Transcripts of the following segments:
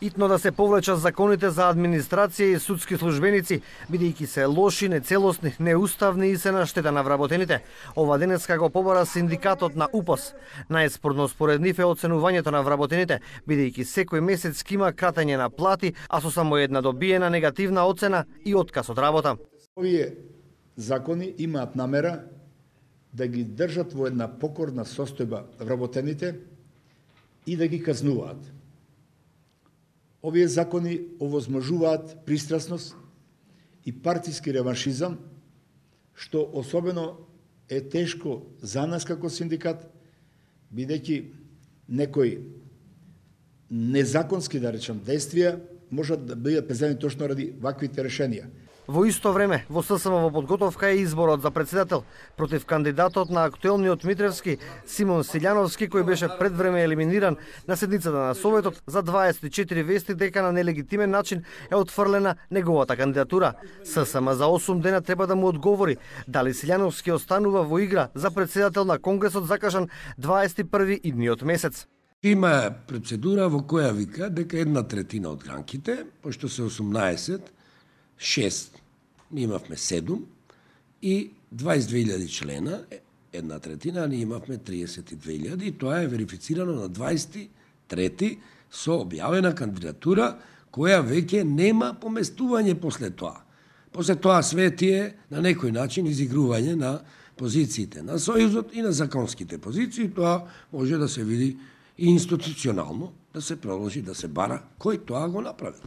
Итно да се повлечат законите за администрација и судски службеници, бидејќи се лоши, нецелосни, неуставни и се на штета на вработените. Ова денеска го побара синдикатот на УПОС. Најспорно според нив е оценувањето на вработените, бидејќи секој месец има кратење на плати, а со само една добиена негативна оцена и отказ од работа. Овие закони имаат намера да ги држат во една покорна состојба вработените и да ги казнуваат. Овие закони овозможуваат пристрасност и партиски реваншизам, што особено е тешко за нас како синдикат, бидејќи некои незаконски, да речем, действија можат да бидат преземени точно ради ваквите решенија. Во исто време, во ССМ во подготовка е изборот за председател против кандидатот на актуелниот Митревски Симон Силјановски, кој беше предвреме елиминиран на седницата на Советот. За 24 вести дека на нелегитимен начин е отфрлена неговата кандидатура. ССМ за 8 дена треба да му одговори дали Силјановски останува во игра за председател на Конгресот закажан 21 идниот месец. Има процедура во која вика дека 1/3 од гранките, пошто се 18, 6, ми имавме 7 и 22.000 члена, 1/3, а ние имавме 32.000 и тоа е верифицирано на 23 со објавена кандидатура која веќе нема поместување после тоа. После тоа све тие на некој начин изигрување на позициите на Сојузот и на законските позиции, тоа може да се види и институционално, да се продолжи да се бара кој тоа го направи.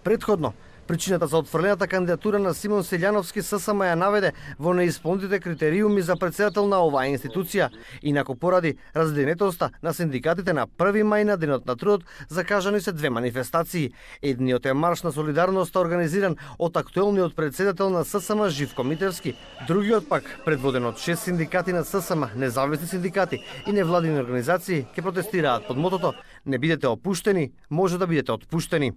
Предходно, причината за отфрлената кандидатура на Симон Силјановски ССМ ја наведе во неисполнетите критериуми за председател на оваа институција, инаку поради разденетоста на синдикатите на 1 мај на денот на трудот закажани се 2 манифестации. Едниот е марш на солидарност организиран од актуелниот председател на ССМ Живко Митревски, другиот пак предводен од 6 синдикати на ССМ, независни синдикати и невладини организации ќе протестираат под мотото: не бидете опуштени, може да бидете отпуштени.